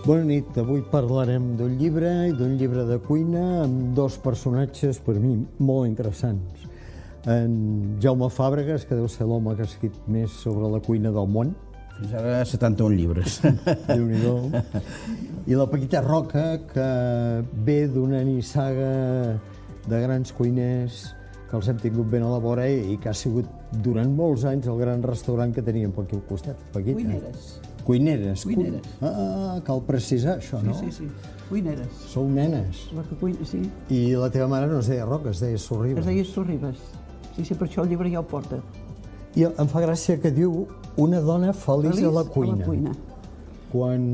Bona nit, avui parlarem d'un llibre i d'un llibre de cuina amb dos personatges per mi molt interessants. En Jaume Fàbregas, que deu ser l'home que ha escrit més sobre la cuina del món. Fins ara 71 llibres. Déu-n'hi-do. I la Paquita Roca, que ve d'una nissaga de grans cuiners que els hem tingut ben a la vora i que ha sigut durant molts anys el gran restaurant que teníem per aquí al costat. Paquita. Cuineres. Cuineres. Cuineres. Cal precisar això, no? Sí, sí, sí. Cuineres. Sou nenes. La que cuina, sí. I la teva mare no es deia Roca, es deia Es Sorribes. deia Sorribes. Sí, sí, per això el llibre ja ho porta. I em fa gràcia que diu una dona feliç a la cuina. A la cuina. Quan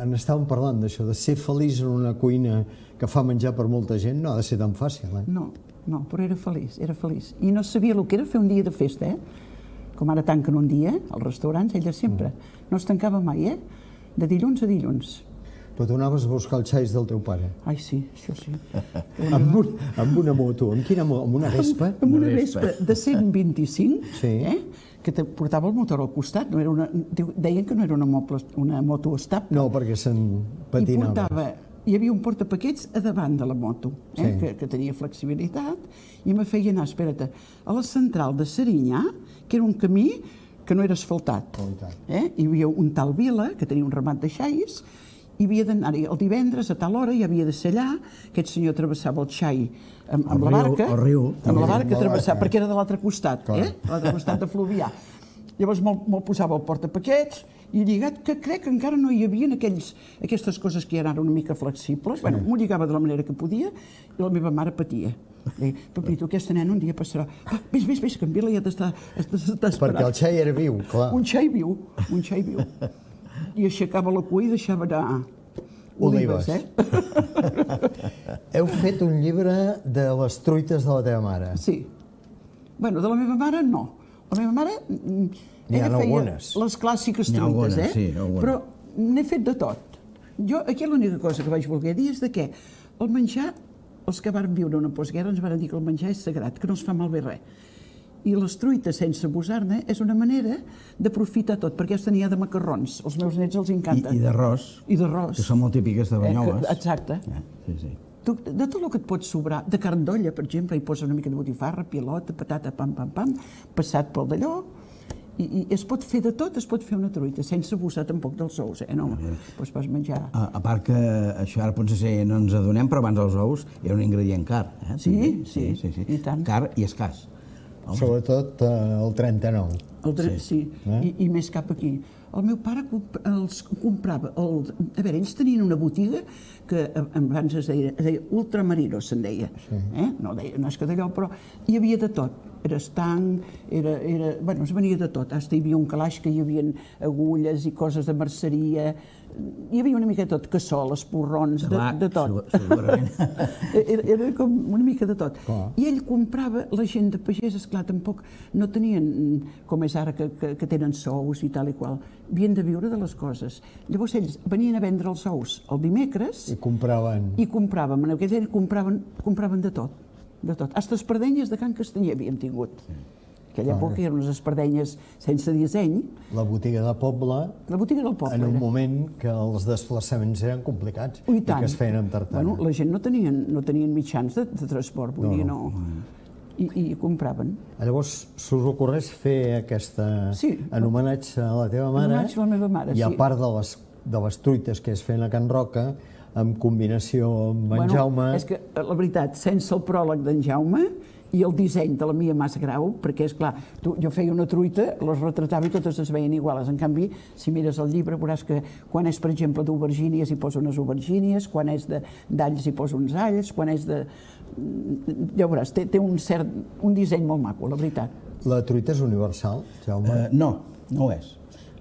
en estàvem parlant d'això, de ser feliç en una cuina que fa menjar per molta gent, no ha de ser tan fàcil, eh? No, no, però era feliç, era feliç. I no sabia el que era fer un dia de festa, Com ara tanquen un dia, als restaurants, ella sempre. No es tancava mai, De dilluns a dilluns. Però tu anaves a buscar els xais del teu pare. Ai, sí, això sí. Amb una moto. Amb quina moto? Amb una Vespa? Amb una Vespa de 125, Sí. que te portava el motor al costat. No era una, deien que no era una moto estable. No, perquè se'n I patinava. hi havia un portapaquets a davant de la moto, Sí. que tenia flexibilitat, i me feia anar, espera't, a la central de Serinyà, que era un camí que no era asfaltat. Oh, i tant. Hi havia un tal Vila, que tenia un ramat de xais, i havia d'anar-hi el divendres a tal hora, i havia de ser allà, aquest senyor travessava el xai amb la barca, el riu, amb la barca Amb la travessava, barca. perquè era de l'altre costat, l'altre costat de Fluvià. Llavors me'l posava al portapaquets i lligat, que crec que encara no hi havia aquestes coses que eren ara una mica flexibles. Bueno, m'ho lligava de la manera que podia i la meva mare patia. Deia, papito, aquesta nena un dia passarà. Vés, que en Vila ja t'està esperant. Perquè el xai era viu, clar. Un xai viu. I aixecava la cua i deixava anar Olives. Heu fet un llibre de les truites de la teva mare. Sí. Bueno, de la meva mare no. La meva mare N'hi ha ella feia algunes. les clàssiques N'hi ha truites, algunes, sí, algunes. Però n'he fet de tot. Jo, aquí l'única cosa que vaig voler dir és de què el menjar, els que varen viure una postguerra ens van dir que el menjar és sagrat, que no es fa malbé res. I les truites sense abusar-ne és una manera d'aprofitar tot, perquè aquesta n'hi ha de macarrons, els meus nets els encanta. I d'arròs, I d'arròs. que són molt típiques de Banyoles. Exacte. Sí. De tot el que et pot sobrar, de carn d'olla, per exemple, hi posa una mica de botifarra, pilota, patata, pam, passat pel d'allò, i es pot fer de tot, es pot fer una truita, sense abusar tampoc dels ous, no? Doncs vas menjar... A part que això ara potser no ens adonem, però abans els ous era un ingredient car. Sí, i tant. Car i escàs. Sobretot el 39. Sí, i més cap aquí. El meu pare els comprava... A veure, ells tenien una botiga que abans es deia Ultramarino, se'n deia. No és que d'allò, però hi havia de tot. Era estanc, bueno, es venia de tot. Fins hi havia un calaix que hi havia agulles i coses de merceria. Hi havia una mica de tot, cassoles, porrons, de tot. Segurament. Era com una mica de tot. I ell comprava, la gent de pagès, esclar, tampoc no tenien, com és ara, que tenen sous i tal i qual. Havien de viure de les coses. Llavors ells venien a vendre els ous el dimecres I compraven. i compràvem. En aquell temps compraven de tot. De tot. Hasta espardenyes de Can Castanyer havíem tingut. Aquella època eren unes espardenyes sense disseny. La botiga de poble, La botiga del poble. en un moment que els desplaçaments eren complicats i que es feien amb tartana. Bueno, la gent no tenien mitjans de transport, vull dir, no. I compraven. Llavors, s'us ocorreix fer aquesta... Sí. En homenatge a la teva mare. En homenatge a la meva mare, I a sí. part de les truites que es feien a Can Roca, en combinació amb en Jaume... És que, la veritat, sense el pròleg d'en Jaume i el disseny de la Mia Mas Grau, perquè, esclar, jo feia una truita, les retratava i totes es veien iguals. En canvi, si mires el llibre, veuràs que quan és, per exemple, d'aubergínies hi posa unes aubergínies, quan és d'alls hi posa uns alls, quan és de... Ja veuràs, té un disseny molt maco, la veritat. La truita és universal, Jaume? No ho és.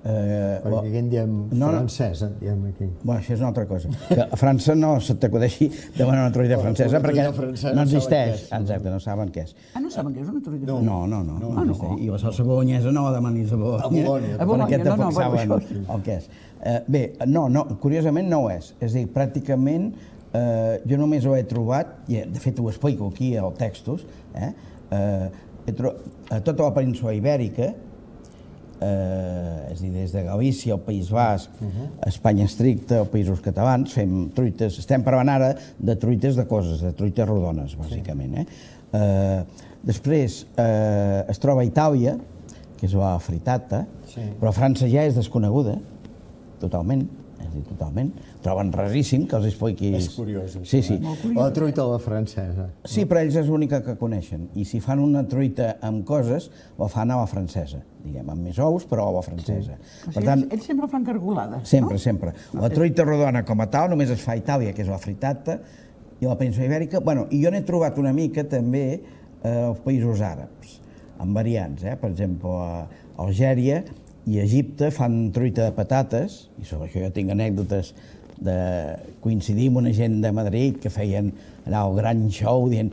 Perquè aquí en diem francès, en diem aquí. Bueno, això és una altra cosa. Que a França no se t'acudeixi demanar una truita francesa perquè no existeix. Exacte, no saben què és. No saben què és una truita francesa? No. I la salsa bolognesa no demanis a Bologna. A Bologna, perquè tampoc no, saben el que és. Bé, no, curiosament no ho és. És a dir, pràcticament jo només ho he trobat, i de fet ho explico aquí al Textos, tota la península Ibèrica, és a dir, des de Galícia, el País Basc, Espanya estricta, els Països Catalans, fem truites, estem parlant ara de truites de coses, de truites rodones, bàsicament. Després es troba a Itàlia, que és la frittata, però a França ja és desconeguda, totalment, és a dir, totalment. Troben raríssim que els expliquis... És curiós, això. Sí, sí. La truita a la francesa. Sí, però ells és l'única que coneixen. I si fan una truita amb coses, la fan a la francesa, diguem, amb més ous, però a la francesa. Per tant, ells sempre fan cargolada, sempre, sempre. La truita rodona com a tal només es fa a Itàlia, que és la frittata, i a la península Ibèrica. Bueno, i jo n'he trobat una mica també als països àrabs, amb variants. Per exemple, a Algèria i a Egipte fan truita de patates, i sobre això jo tinc anècdotes de coincidir amb una gent de Madrid que feien allà el gran show dient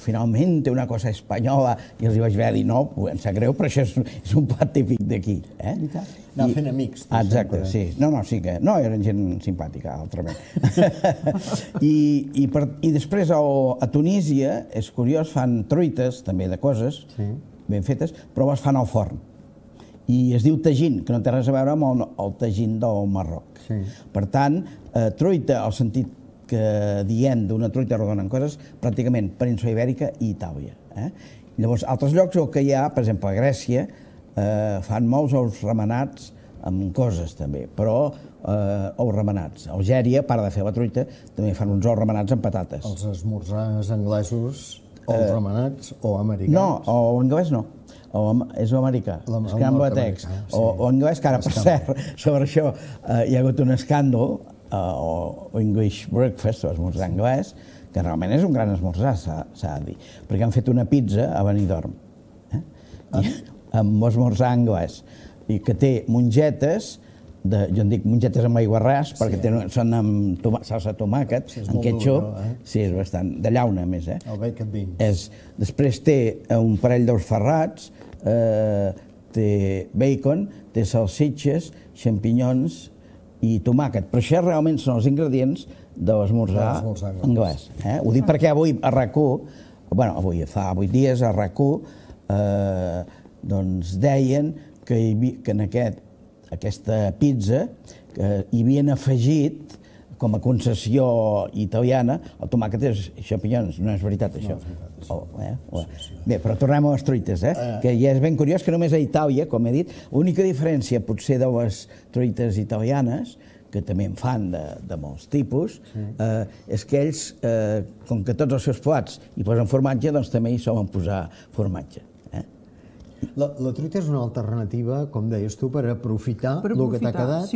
finalment té una cosa espanyola, i els hi vaig haver dir no, em sap greu, però això és un plat típic d'aquí. Anar fent amics. Exacte, sí. No, sí que... No, eren gent simpàtica, altrament. I després a Tunísia, és curiós, fan truites també de coses ben fetes, però les fan al forn. I es diu tagín, que no té res a veure amb el tagín del Marroc. Per tant, truita, al sentit que diem d'una truita rodona en coses, pràcticament península Ibèrica i Itàlia. Llavors, altres llocs que hi ha, per exemple, a Grècia, fan molts ous remenats amb coses també, però ous remenats. A Algèria, a part de fer la truita, també fan uns ous remenats amb patates. Els esmorzars anglesos, ous remenats o americans? No, o anglès no. És l'americà, scrambled eggs. O anglès, que ara, per cert, sobre això hi ha hagut un escàndol, o English breakfast, o esmorzar anglès, que realment és un gran esmorzar, s'ha de dir, perquè han fet una pizza a Benidorm, amb esmorzar anglès, i que té mongetes, jo en dic mongetes amb aiguarràs, perquè són amb salsa de tomàquet, amb ketchup, sí, és bastant, de llauna, a més. El bacon beans. Després té un parell d'ous ferrats, té bacon, té salsitxes, xampinyons i tomàquet. Però això realment són els ingredients de l'esmorzar anglès. Ho dic perquè avui a RAC1, avui fa 8 dies a RAC1, doncs deien que en aquesta pizza hi havien afegit com a concessió italiana el tomàquet i xampinyons. No és veritat, això. Bé, però tornem a les truites, que ja és ben curiós que només a Itàlia, com he dit, l'única diferència potser de les truites italianes, que també en fan de molts tipus, és que ells, com que tots els seus plats hi posen formatge, doncs també hi solen posar formatge. La truita és una alternativa, com deies tu, per aprofitar el que t'ha quedat,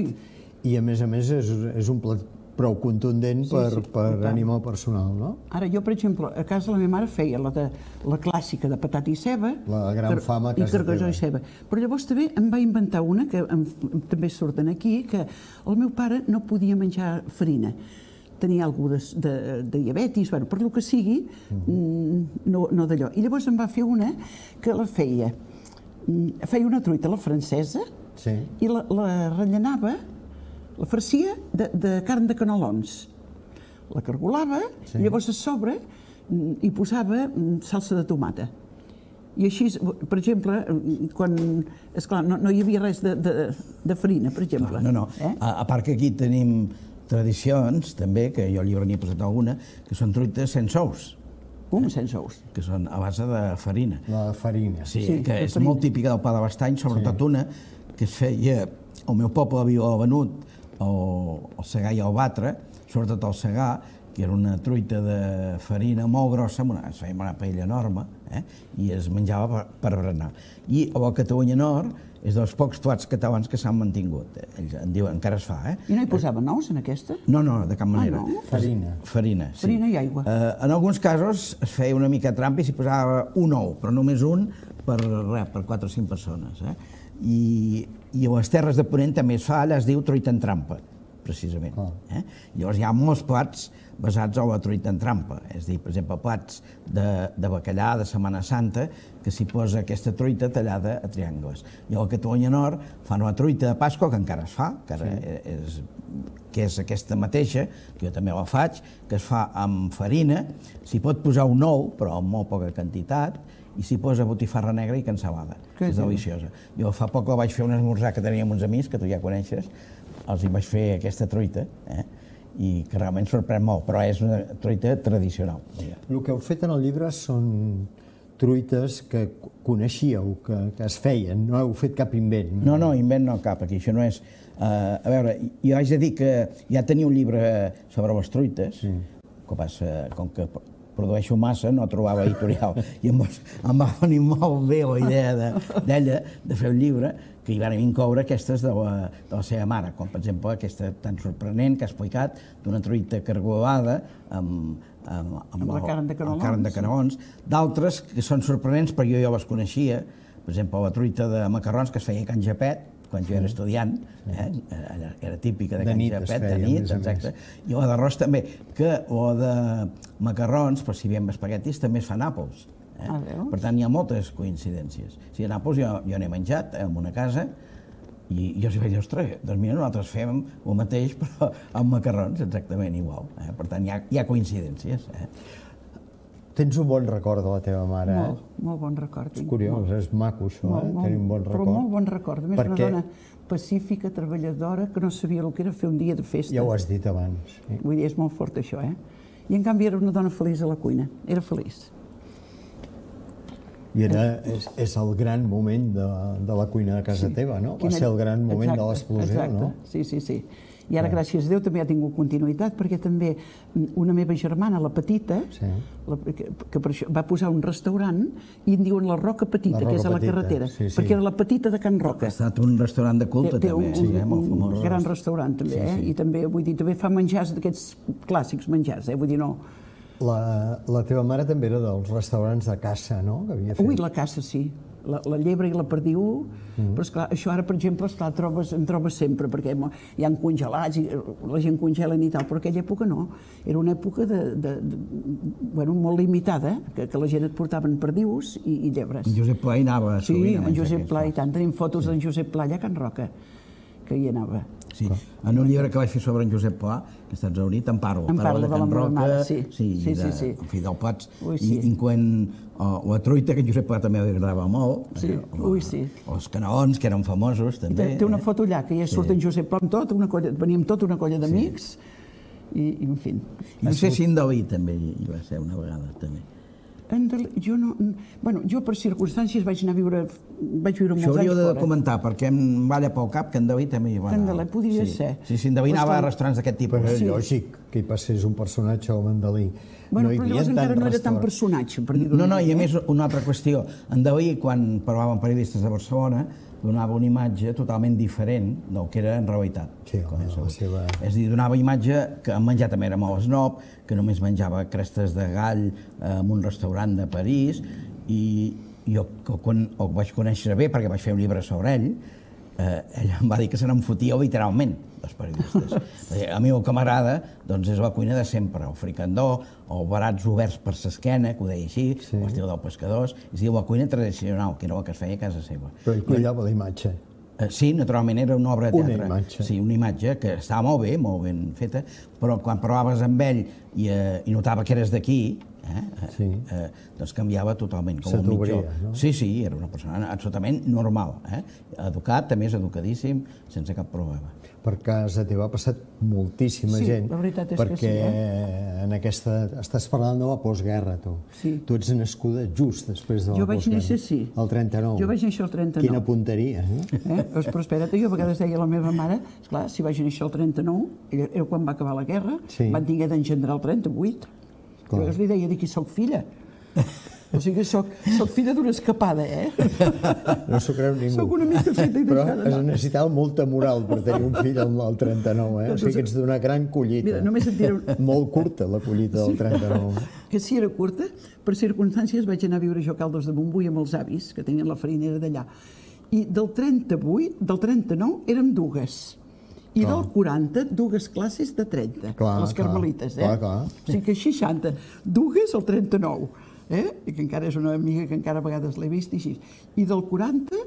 i a més és un plat prou contundent per animar el personal, no? Ara, jo, per exemple, a casa la meva mare feia la clàssica de patata i ceba. La gran fama a casa teva. I cargalló i ceba. Però llavors també em va inventar una, que també surten aquí, que el meu pare no podia menjar farina. Tenia alguna de diabetis, per lo que sigui, no d'allò. I llavors em va fer una que la feia una truita a la francesa i la rellenava, la farcia de carn de canelons. La cargolava i llavors a sobre hi posava salsa de tomata. I així, per exemple, quan, esclar, no hi havia res de farina, per exemple. No. A part que aquí tenim tradicions, també, que jo al llibre n'hi he posat alguna, que són truites sense ous. Com sense ous? Que són a base de farina. La farina. Sí, que és molt típica del pa de l'Estany, sobretot una que es feia, el meu poble havia venut el segar i el batre, sobretot el segar, que era una truita de farina molt grossa, es feia una paella enorme, i es menjava per berenar. I a la Catalunya Nord és dels pocs plats catalans que s'han mantingut. Ells en diuen, encara es fa. I no hi posaven ous en aquesta? No, de cap manera. Farina. Farina, sí. Farina i aigua. En alguns casos es feia una mica trampa i s'hi posava un ou, però només un per 4 o 5 persones. I a les Terres de Ponent també es fa, allà es diu truita en trampa, precisament. Llavors hi ha molts plats basats en la truita en trampa, és a dir, per exemple, plats de bacallà de Setmana Santa, que s'hi posa aquesta truita tallada a triangles. I a la Catalunya Nord fan una truita de Pasqua, que encara es fa, que és aquesta mateixa, que jo també la faig, que es fa amb farina, s'hi pot posar un ou, però amb molt poca quantitat, i s'hi posa botifarra negra i cansalada. És deliciosa. Jo fa poc la vaig fer un esmorzar que teníem uns amics, que tu ja coneixes, els hi vaig fer aquesta truita, i que realment sorprèn molt, però és una truita tradicional. El que heu fet en el llibre són truites que coneixíeu, que es feien, no heu fet cap invent. No, invent no cap, aquí, això no és... A veure, jo haig de dir que ja tenia un llibre sobre les truites, com que produeixo massa, no trobava editorial, i em va venir molt bé la idea d'ella de fer un llibre que hi van incloure aquestes de la seva mare, com per exemple aquesta tan sorprenent que ha explicat d'una truita cargolada amb la carn de canelons, d'altres que són sorprenents perquè jo les coneixia, per exemple la truita de macarrons que es feia a Can Japet, quan jo era estudiant, era típica de Can Japet, de nit, exacte, i la d'arròs també, que la de macarrons, però si veiem espaguetis, també es fa a Nàpols. Per tant, hi ha moltes coincidències. Si a Nàpols jo n'he menjat en una casa, i jo els vaig dir, ostres, doncs mira, nosaltres fem el mateix, però amb macarrons, exactament igual. Per tant, hi ha coincidències. Tens un bon record de la teva mare, Molt bon record. És curiós, és maco això, tenir un bon record. Però molt bon record. A més, una dona pacífica, treballadora, que no sabia el que era fer un dia de festa. Ja ho has dit abans. Vull dir, és molt fort això, I en canvi era una dona feliç a la cuina, era feliç. I és el gran moment de la cuina de casa teva, no? Va ser el gran moment de l'explosió, no? Sí. I ara, gràcies a Déu, també ha tingut continuïtat, perquè també una meva germana, la Petita, que per això va posar un restaurant, i en diuen la Roca Petita, que és a la carretera, perquè era la Petita de Can Roca. Ha estat un restaurant de culte, també, molt famós. Un gran restaurant, també, i també, vull dir, també fa menjars d'aquests clàssics menjars, vull dir, no... La teva mare també era dels restaurants de caça, no? Ui, la caça, sí. La llebre i la perdiu, però esclar, això ara, per exemple, en trobes sempre, perquè hi ha congelats, i la gent congelen i tal, però aquella època no. Era una època molt limitada, que la gent et portaven perdius i llebres. En Josep Pla hi anava sovint. Sí, en Josep Pla i tant. Tenim fotos d'en Josep Pla allà a Can Roca, que hi anava. Sí, en un llibre que vaig fer sobre en Josep Pla, que està exhaurit, en parlo de la meva mare, sí. En fi, del plats, incloent la truita, que en Josep Pla també li agradava molt, els canelons, que eren famosos, també. Té una foto allà, que ja surt en Josep Pla amb tot, veníem tota una colla d'amics, i en fi. No sé si en Dalí també hi va ser una vegada, també. Jo no... Bueno, jo per circumstàncies vaig viure molts anys fora. Això hauríeu de comentar, perquè em balla pel cap que en David també hi va anar. En Dalí podria ser. Sí, en David anava a restaurants d'aquest tipus. Però és lògic que hi passés un personatge com en Dalí. Bueno, però llavors encara no era tan personatge. No, i a més, una altra qüestió. En Dalí, quan parlava amb periodistes de Barcelona, donava una imatge totalment diferent del que era en realitat. Sí, la seva... És a dir, donava imatge que en menjar també era molt esnob, que només menjava crestes de gall en un restaurant de París, i jo, quan el vaig conèixer bé, perquè vaig fer un llibre sobre ell, ell em va dir que se n'en fotia literalment, dels periodistes. A mi el que m'agrada és la cuina de sempre, el fricandó, els barats oberts per l'esquena, que ho deia així, l'estil dels pescadors, és a dir, la cuina tradicional, que era la que es feia a casa seva. Però ell cuidava la imatge. Sí, naturalment era una obra de teatre. Una imatge. Sí, una imatge que estava molt ben feta, però quan parlaves amb ell i notava que eres d'aquí, doncs canviava totalment. Se t'obria, no? Sí, era una persona absolutament normal. Educat, també és educadíssim, sense cap problema. Per casa teva ha passat moltíssima gent. Sí, la veritat és que sí. Perquè en aquesta... Estàs parlant de la postguerra, tu. Sí. Tu ets nascuda just després de la postguerra. Jo vaig néixer, sí. El 39. Jo vaig néixer el 39. Quina punteria, eh? Però espera't, jo a vegades deia a la meva mare, esclar, si vaig néixer el 39, era quan va acabar la guerra, van tinguer d'engendrar el 38. Jo li deia, de qui soc filla. O sigui, soc filla d'una escapada, No s'ho creu ningú. Soc una mica feta i deixada. Però es necessitava molta moral per tenir un fill al 39, O sigui que ets d'una gran collita. Mira, només et diré... Molt curta, la collita del 39. Que sí, era curta. Per circumstàncies vaig anar a viure jo a Caldes de Montbui amb els avis, que tenien la farinera d'allà. I del 39 érem dues. I del 40, dues classes de 30, les carmelites, Clar. O sigui que 60, dues al 39, I que encara és una amiga que encara a vegades l'he vist i així. I del 40,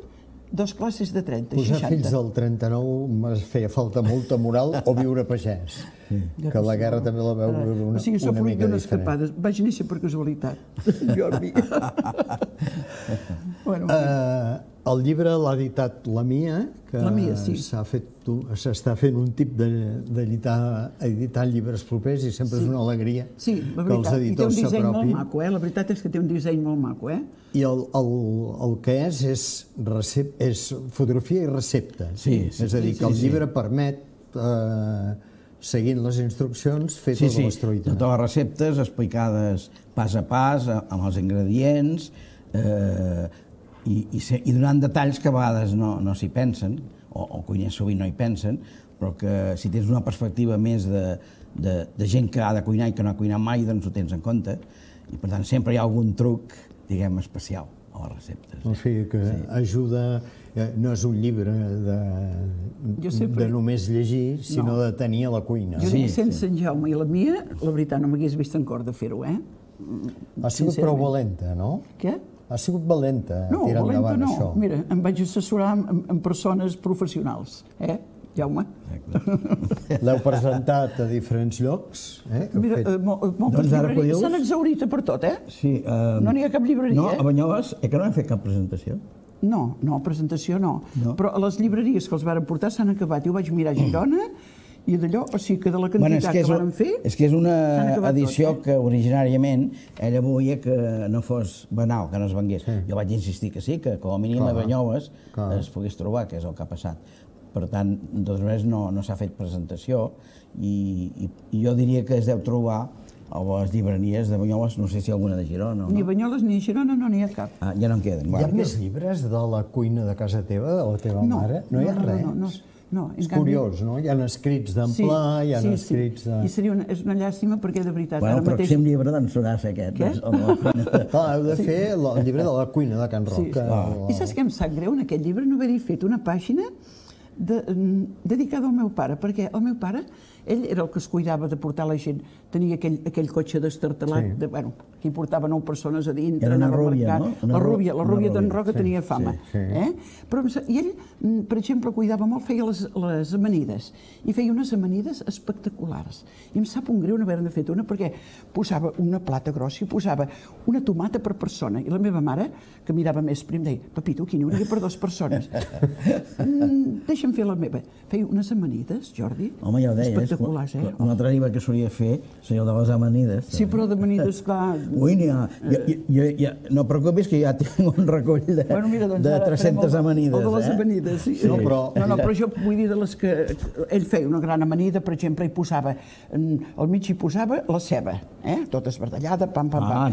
2 classes de 30, Posar 60. fins al 39 m'ha feia falta molta moral o viure pagès. Que la guerra també la veu una O sigui, sóc fruit mica d'unes diferent. escapades. Vaig néixer per casualitat, Jordi. Bueno, El llibre l'ha editat La Mia, que La Mia, sí. s'està fent un tip d'editar llibres propers i sempre és una alegria sí, la que els veritat. I té un editors disseny molt s'apropin. maco, La veritat és que té un disseny molt maco, I el que és fotografia i receptes. Sí, És a dir, que el llibre permet, seguint les instruccions, fer totes les truites. Totes les receptes explicades pas a pas, amb els ingredients, i donant detalls que a vegades no s'hi pensen, o cuiners sovint no hi pensen, però que si tens una perspectiva més de gent que ha de cuinar i que no ha cuinat mai, doncs ho tens en compte. I per tant sempre hi ha algun truc, diguem, especial a les receptes. O sigui que ajuda, no és un llibre de només llegir, sinó de tenir a la cuina. Jo dic, sense en Jaume i la Mia, la veritat no m'hagués vist en cor de fer-ho, Ha sigut prou valenta, no? Què? Ha sigut valenta tirar endavant això. No, mira, em vaig assessorar amb persones professionals, Jaume? L'heu presentat a diferents llocs? Mira, moltes llibreries s'han exhaurit per tot, Sí. No n'hi ha cap llibreria. No, a Banyoles, que no hem fet cap presentació. No, presentació no. Però les llibreries que els varen portar s'han acabat. Jo vaig mirar a Girona i d'allò, o sigui que de la quantitat que van fer... És que és una edició que originàriament ella volia que no fos banal, que no es vengués. Jo vaig insistir que sí, que com a mínim a Banyoles es pogués trobar, que és el que ha passat. Per tant, de totes maneres no s'ha fet presentació i jo diria que es deu trobar a les llibreries de Banyoles, no sé si alguna de Girona o no. Ni Banyoles ni Girona no n'hi ha cap. Ja no en queden. Hi ha més llibres de la cuina de casa teva, de la teva mare? No hi ha res? No, és curiós, no? Hi ha escrits d'Amplà, hi ha escrits de... I és una llàstima perquè, de veritat, el pròxim llibre doncs serà aquest. Què? Heu de fer el llibre de la cuina de Can Roca. I saps què em sap greu? En aquest llibre no haver-hi fet una pàgina dedicada al meu pare, perquè el meu pare, ell era el que es cuidava de portar la gent, tenia aquell cotxe destartalat, que hi portava 9 persones a dintre, era una rúbia, no? La rúbia d'en Roca tenia fama. I ell, per exemple, cuidava molt, feia les amanides, i feia unes amanides espectaculars. I em sap un greu no haver-ne fet una, perquè posava una plata grossa i posava una tomata per persona, i la meva mare, que mirava més prim, deia, papito, aquí n'hi hauria per 2 persones. Deixa'm fer la meva. Feia unes amanides, Jordi, espectaculars, Un altre llibre que solia fer seria el de les amanides. Sí, però d'amanides, clar... Ui, no preocupis que ja tinc un recull de 300 amanides. El de les amanides, sí. No, però jo vull dir de les que... Ell feia una gran amanida, per exemple, al mig hi posava la ceba, tota esbardellada, pam. Però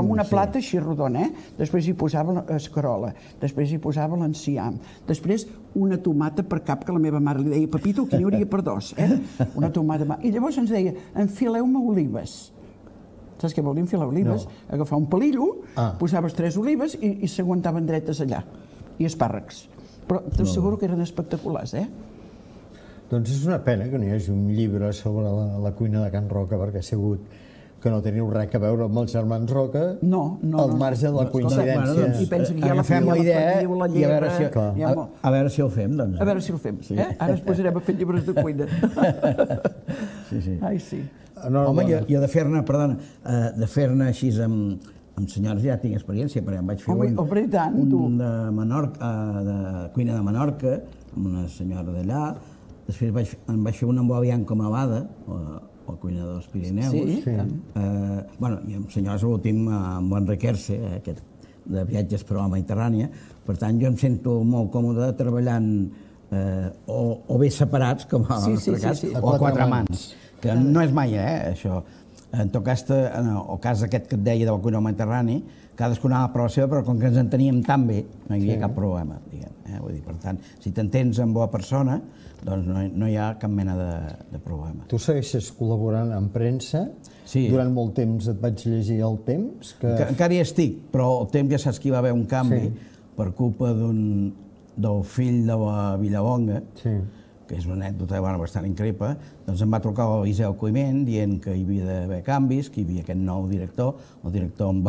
amb una plata així rodona, després hi posava escarola, després hi posava l'enciam, després una tomata per cap, que la meva mare li deia, papito, que n'hi hauria per 2, una tomata. I llavors ens deia, enfileu-me olives. Saps què vol dir enfilar olives? Agafar un palillo, posaves 3 olives i s'aguantaven dretes allà. I espàrrecs. Però t'asseguro que eren espectaculars, Doncs és una pena que no hi hagi un llibre sobre la cuina de Can Roca, perquè ha sigut que no teniu res a veure amb els germans Roca, al marge de la coincidència. I pensa que ja agafem la idea i a veure si el fem, doncs. A veure si el fem. Ara ens posarem a fer llibres de cuina. Ai, sí. Home, jo de fer-ne, perdona, de fer-ne així amb senyors ja tinc experiència, perquè em vaig fer un de Menorca, de cuina de Menorca, amb una senyora d'allà, després em vaig fer un amb Bianco Mavada, o cuina dels Pirineus. I amb senyors l'últim, amb Enric Erce, aquest de viatges per la Mediterrània. Per tant, jo em sento molt còmode treballant o bé separats, com en el nostre cas, o a 4 mans, que no és mai, això. En tot cas, el cas aquest que et deia de la cuina del Mediterrani, cadascú anava per la seva, però com que ens enteníem tan bé, no hi havia cap problema, diguem. Per tant, si t'entens amb la persona, doncs no hi ha cap mena de problema. Tu segueixes col·laborant amb premsa. Durant molt temps et vaig llegir El Temps. Encara hi estic, però el Temps ja saps que hi va haver un canvi per culpa del fill de la Villalonga, que és una anècdota bastant increïble. Doncs em va trucar l'Eliseu Climent dient que hi havia d'haver canvis, que hi havia aquest nou director. El director em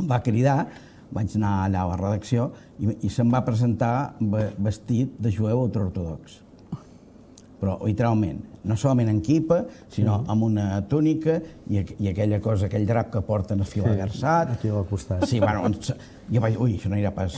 va cridar, vaig anar allà a la redacció i se'm va presentar vestit de jueu ultraortodox. Però, literalment, no solament en quipa, sinó amb una túnica i aquella cosa, aquell drap que porten esfilagarçat. Aquí al costat. Sí, bueno, jo vaig... Ui, això no irà pas.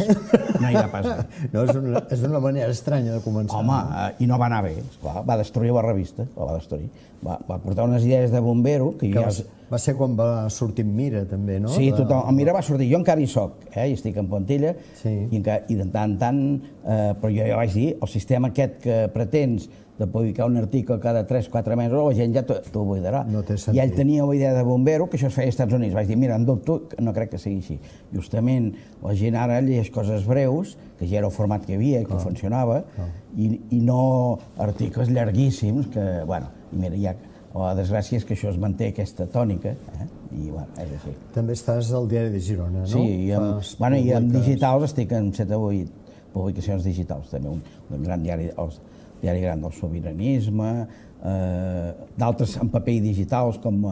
No irà pas. No, és una manera estranya de començar. Home, i no va anar bé, esclar, va destruir la revista, la va destruir. Va portar unes idees de bombero que ja... Va ser quan va sortir Mira, també, no? Sí, tothom. El Mira va sortir. Jo encara hi soc, i estic en Pontilla, i de tant en tant... Però jo ja vaig dir, el sistema aquest que pretens de publicar un article cada 3-4 mesos, la gent ja t'ho buidarà. No té sentit. I ell tenia una idea de bombero, que això es feia als Estats Units. Vaig dir, mira, en dubto, no crec que sigui així. Justament, la gent ara llegeix coses breus, que ja era el format que hi havia i que funcionava, i no articles llarguíssims, que, bueno, i mira, ja... La desgràcia és que això es manté aquesta tònica, i bueno, és així. També estàs al Diari de Girona, no? Sí, i en digitals estic en 7 o 8 publicacions digitals, també un gran diari, el diari gran del sobiranisme, d'altres en paper i digitals com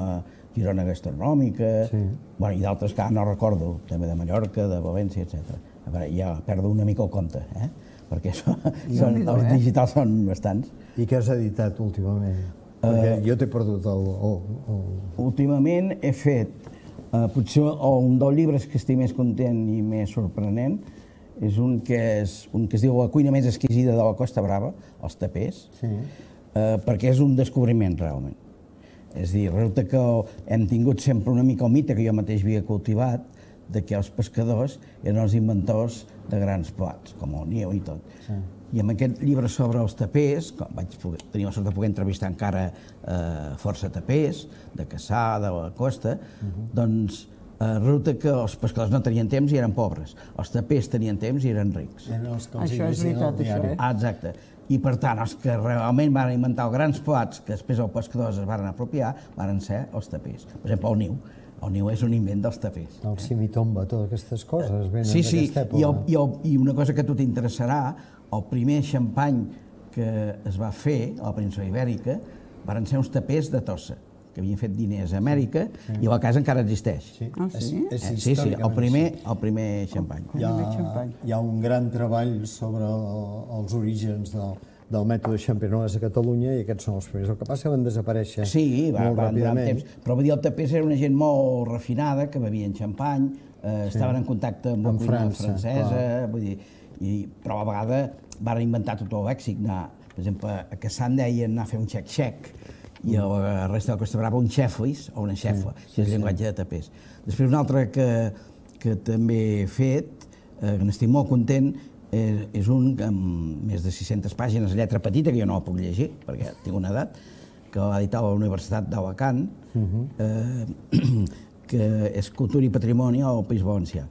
Girona Gastronòmica, i d'altres que ara no recordo, també de Mallorca, de València, etc. A veure, ja perdo una mica el compte, perquè els digitals són bastants. I què has editat últimament? Perquè jo t'he perdut el... Últimament he fet, potser un dels llibres que estic més content i més sorprenent, és un que es diu La cuina més exquisida de la Costa Brava, els tapers, perquè és un descobriment, realment. És a dir, resulta que hem tingut sempre una mica el mite que jo mateix havia cultivat, de que els pescadors eren els inventors de grans plats, com el niu i tot. I amb aquest llibre sobre els tapers, vaig tenir la sort de poder entrevistar encara força tapers, de Cassà, de la costa, doncs resulta que els pescadors no tenien temps i eren pobres. Els tapers tenien temps i eren rics. Això és veritat, això, Exacte. I per tant, els que realment van inventar els grans plats que després els pescadors es van apropiar, van ser els tapers. Per exemple, el niu. El niu és un invent dels tapers. El simitomba, totes aquestes coses venen d'aquesta època. I una cosa que a tu t'interessarà, el primer xampany que es va fer a la península Ibèrica van ser uns tapers de Tossa, que havien fet diners a Amèrica i la casa encara existeix. Sí, el primer xampany. Hi ha un gran treball sobre els orígens del mètode Champenoise a Catalunya i aquests són els primers. El que passa que van desaparèixer molt ràpidament. Però vull dir, el tapers era una gent molt refinada, que bevien xampany, estaven en contacte amb la cuina francesa, vull dir, però a la vegada van inventar tot el lèxic. Per exemple, a Cassà en deien anar a fer un xec-xec i a la resta de la Costa Brava un xeflis o una xefla, que és el llenguatge de tapers. Després un altre que també he fet, que n'estic molt content, és un amb més de 600 pàgines, lletra petita, que jo no la puc llegir, perquè tinc una edat, que va editar a la Universitat d'Alacant, que és Cultura i Patrimoni al País Valencià,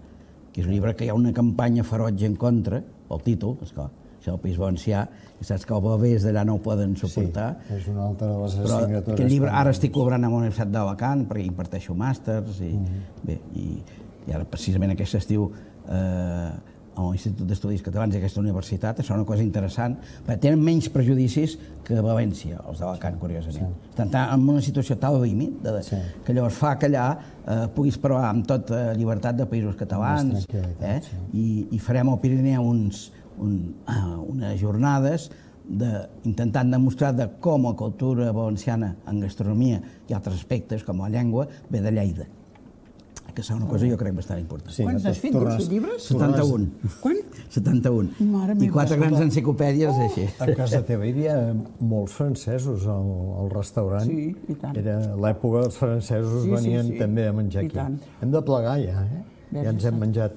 que és un llibre que hi ha una campanya ferotge en contra, el títol, esclar, això del País Valencià, i saps que els bebès d'allà no ho poden suportar. Sí, és una altra de les assignatures. Però aquest llibre ara estic cobrant a la Universitat d'Alacant, perquè imparteixo màsters, i ara precisament aquest estiu a l'Institut d'Estudis Catalans i aquesta universitat, això és una cosa interessant, perquè tenen menys prejudicis que València, els d'Alacant, curiosament. Estan en una situació tal límit que llavors fa que allà puguis parlar amb tota llibertat de països catalans i farem al Pirineu unes jornades intentant demostrar com la cultura valenciana en gastronomia i altres aspectes, com la llengua, ve de Lleida. Que és una cosa jo crec bastant important. Quants has fet, 12 llibres? 71. Quan? 71. I 4 grans enciclopèdies així. A casa teva hi havia molts francesos al restaurant. Sí, i tant. Era l'època dels francesos venien també a menjar aquí. Hem de plegar ja, Ja ens hem menjat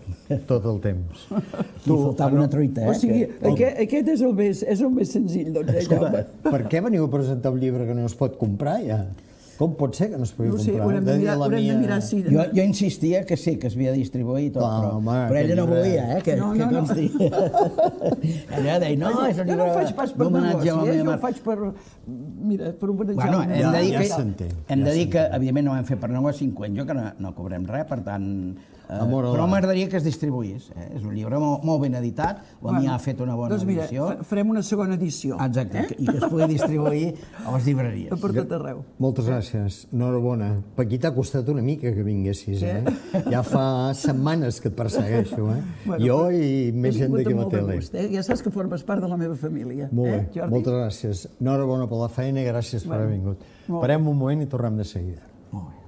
tot el temps. Li faltava una truita, O sigui, aquest és el més senzill, doncs. Escolta, per què veniu a presentar un llibre que no es pot comprar ja? Com pot ser que no es pugui comprar? No sé, haurem de mirar si... Jo insistia que sí, que es havia de distribuir i tot, però ella no volia, que consti. Ella deia, no, és un llibre d'homenatge a la meva mare. Jo ho faig per... Mira, per homenatjar a la meva mare. Hem de dir que, evidentment, no ho hem fet per negoci, jo que no cobrem res, per tant, Però m'agradaria que es distribuís. És un llibre molt ben editat, la Mia ha fet una bona edició. Doncs mira, farem una segona edició. Exacte, i que es pugui distribuir a les llibreries. Per tot arreu. Moltes gràcies, enhorabona. Paquí, t'ha costat una mica que vinguessis, Ja fa setmanes que et persegueixo, Jo i més gent d'aquí a la tele. Ja saps que formes part de la meva família. Molt bé, moltes gràcies. Enhorabona per la feina i gràcies per haver vingut. Parem un moment i tornem de seguida. Molt bé.